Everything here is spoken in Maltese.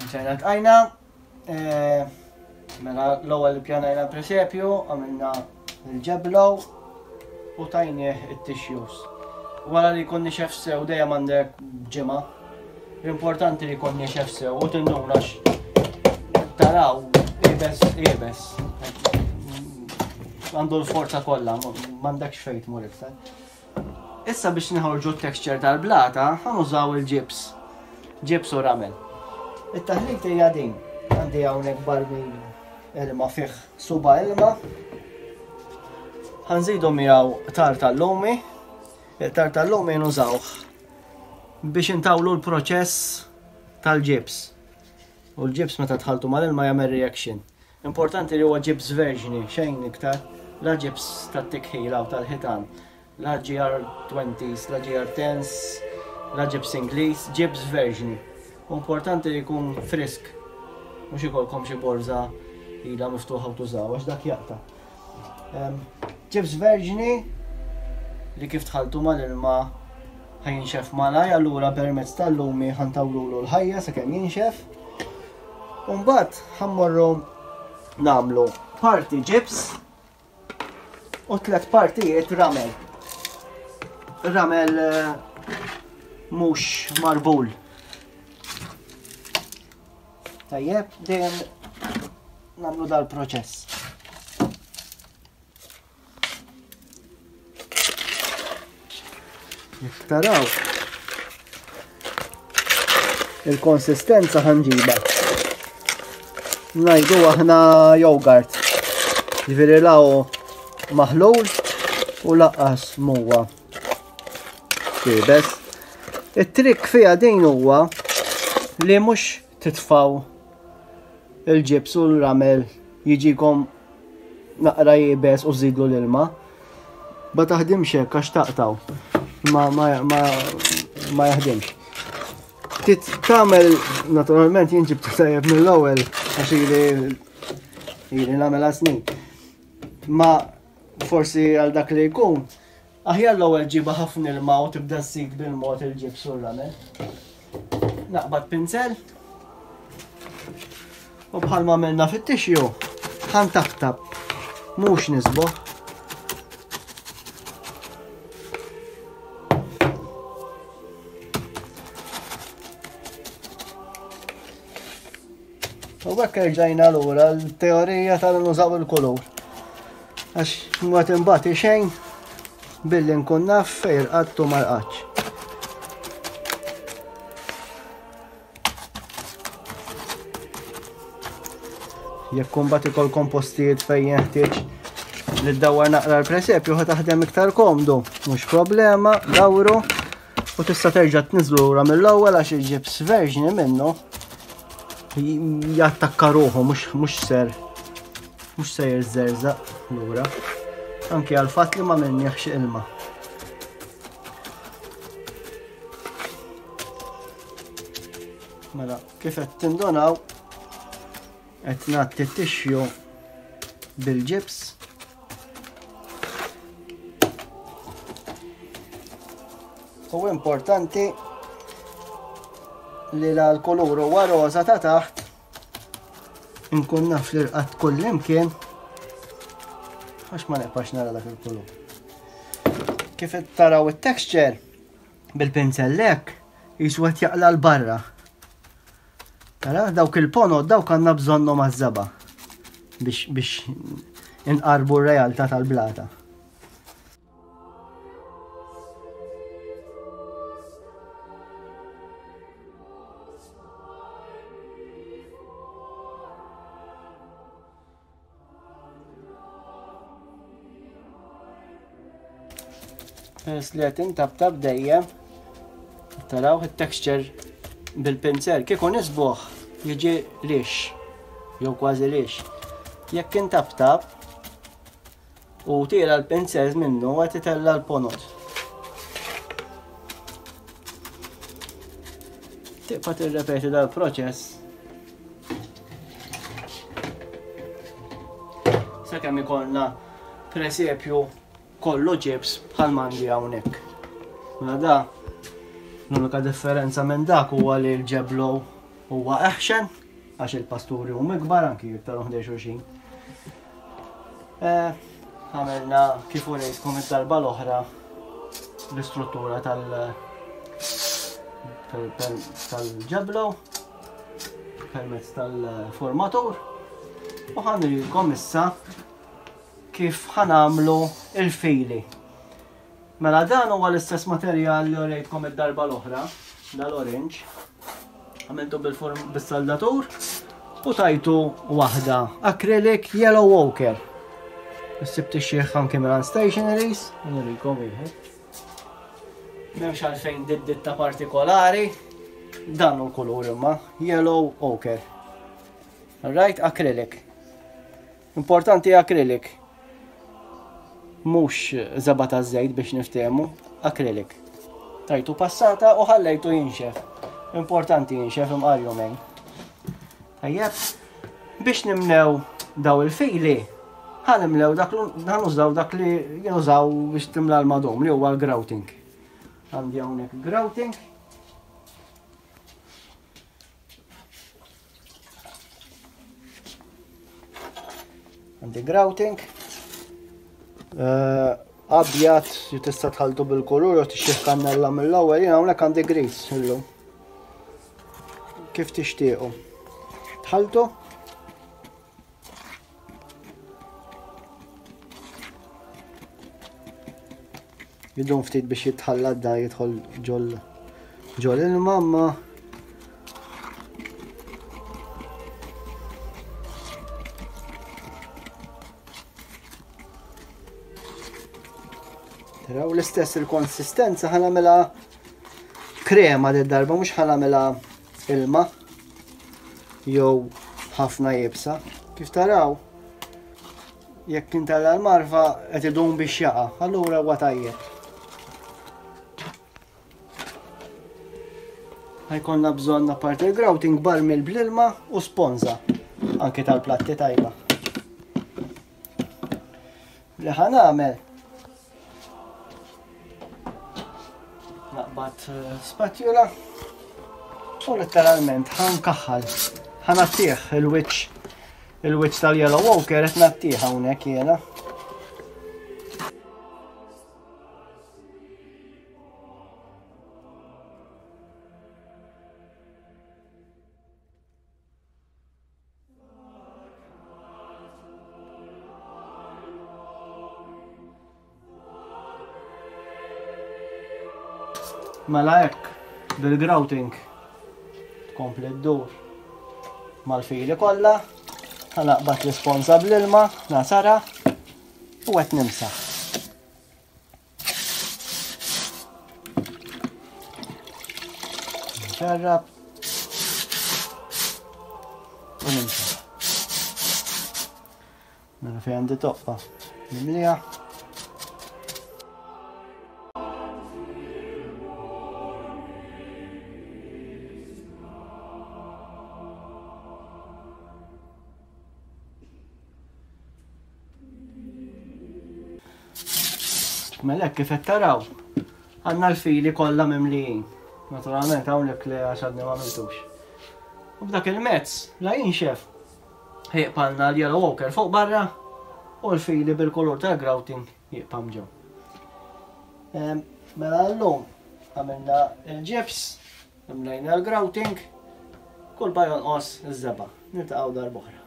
Ġajna tqajna, eh, mela l-ewwel pjanajna l-presepju, għamilna l-ġeblow u tajnieh it-tissues. Wara li jkun nixef sew dejjem għandek ġimgħa. L-importanti li jkun nixef sew u tinduna taraw ibes ibes. Għandu l-forza kollha, m'għandekx fejn tmur iktar. Issa biex nħorġu t-texture tal-blata, ħanużaw il-ġibs. Ġibs u ramel. It-taħlit hija din. Għandi hawnhekk barmil ilma fih suba ilma. Ħanżidu miegħu tar tal-lumi. Il-tar tal-lumi nużawh biex intawlu l-proċess tal-ġibs. U l-ġibs meta tħaltu mal-ilma jagħmel reaction. Importanti li huwa ġibs verġni, xejn iktar, la ġibs tat-tikħila u tal-ħitan, la GR20s, la GR10s, la ġibs Ingliż, ġibs verġni. U importanti li jkun frisk, mhux ikolkom xi borża ilha miftuħa u tużaw għax dak jaqta'. Ġibs verġni li kif tħalltu mal-ilma ħa jinxef malaj, allura permezz tal-lumi ħantawlulu l-ħajja sakemm jinxef. U mbagħad ħammorru nagħmlu parti ġibs u tlet partijiet ramel. Ramel eh, mhux marbul. Tajjeb, dejjem nagħmlu dal-proċess. Jekk taraw il-konsistenza ħanġiba. Najdu aħna jogurt. Ġifieri law maħlul u laqqas muwa. Kibes. It-trik fija din huwa li mhux titfaw il-ġibs u l-ramel jiġikom naqra jibes u żidlu l-ilma. Ma taħdimx hekk għax taqtaw. Ma, ma, ma, ma jaħdimx. Tit tagħmel naturalment jien ġibtu tajjeb mill-ewwel għax ili ili nagħmel snin. Ma forsi għal dak li jkun Aħjar l-ewwel ġibha ħafna ilma u tibda żżid bil-mod il-ġibs u r-ramel. Naqbad pinzel u bħalma għamilna fit-tixju ħan taftab mhux nisboħ. U hekk erġajna lura l-teorija tal-nużaw il-kulur. Għax ma timbati xejn billi nkun naf fejn rqadt u ma rqadx. Jekk kumbat ikolkom postijiet fejn jeħtieġ li ddawwar naqra l-presepju ħa taħdem iktar komdu, mhux problema, dawru u tista' terġa' tniżlu lura mill-ewwel għax il-ġibs verġni minnu jattakka ruħu mhux ser mhux se jirżerżaq lura. Anki għal fatt li ma minnieħx ilma. Mela, kif qed tindunaw qed nagħti t-tixju bil-ġibs. U importanti li l-kulur huwa roża ta' taħt Inkun naf li rqatt kull imkien għax ma neqpax nara dak il-kulur. Kif qed taraw it-texture bil-pinzellek jisu qed jaqla l-barra. Tara dawk il-ponot dawk għandna bżonnhom għaż-żaba biex biex inqarbu r-realtà tal-blata. Peress li qed intabtab dejjem taraw it-texture bil-pinzel kieku nisbuħ jiġi lix jew kważi lix. Jekk intabtab U tira l-pinzez minnu għet itella l-ponot. Tibqa tirrepeti dal-proċess. Sakemm ikollna presepju kollu ġibs bħal mandi hawnhekk. Mela da l-unika differenza minn dak huwa li l-ġeblow. Huwa eħxen għax il-pasturi huma ikbar anki iktar ħdej xulxin. Eh, għamilna kif urejtkom id-darba l-oħra l-istruttura tal- tal-ġeblo permezz tal-formatur u ħanrilkom issa kif ħanamlu il-fili. Mela dan huwa l-istess materjal li urejtkom id-darba l-oħra, dal-orange. Għamiltu bil-saldatur u tajtu waħda acrylic yellow ochre. Issib tixxieħ anke minn stationaries, nurikom wieħed. M'hemmx għalfejn ditta partikolari, dan hu l-kulur imma, yellow ochre. Right, acrylic. Importanti acrylic. Mhux żebgħa taż-żejt biex niftehmu, acrylic. Tajtu passata u ħallejtu jinxef. Importanti jinxef imqar jumejn. Tajjeb, biex nimlew daw il-fili, ħanimlew dak ħanużaw dak li jinużaw biex timla l-madum li huwa l-grouting. Għandi hawnhekk grouting. Għandi grouting. Eh, abjad li tista' tħaltu bil-kulur u tixtieq kannella mill-ewwel, jien hawnhekk għandi gris illum. Kif tixtiequ. Tħaltu. Jidum ftit biex jitħallat da jidħol ġol ġol ilma ma Taraw l-istess il-konsistenza ħanamela krema d darba mhux ħanamela ilma jew ħafna jibsa. Kif taraw, jekk intella l-marfa qed idum biex jaqa', allura huwa tajjeb. Ħajkonna bżonn apparti il-grouting barmil bl-ilma u sponza anke tal-platti tajba. Li ħa nagħmel naqbad eh, spatula u letteralment ħa nkaħħal ħa nattih il-wiċċ il-wiċċ tal-yellow walker qed nattih hawnhekk jiena. Mela hekk bil-grouting tkompli ddur mal-fili kollha, ħanaqbad l-isponza bl-ilma, nasara u qed nimsaħ. Nċarrab. U nimsaħ. Mela fejn għandi toqba. Nimlija. Mela kif qed taraw, għandna l-fili kollha mimlijin. Naturalment hawnhekk li għax għadni ma għamiltux. U b'dak il-mezz, la jinxef, ħejqpanna l-yellow ochre fuq barra u l-fili bil-kulur tal-grouting jibqa' ġew. Mela llum għamilna il-ġibs, imlejna l-grouting, kull ma jonqos iż-żebgħa. Niltaqgħu darb'oħra.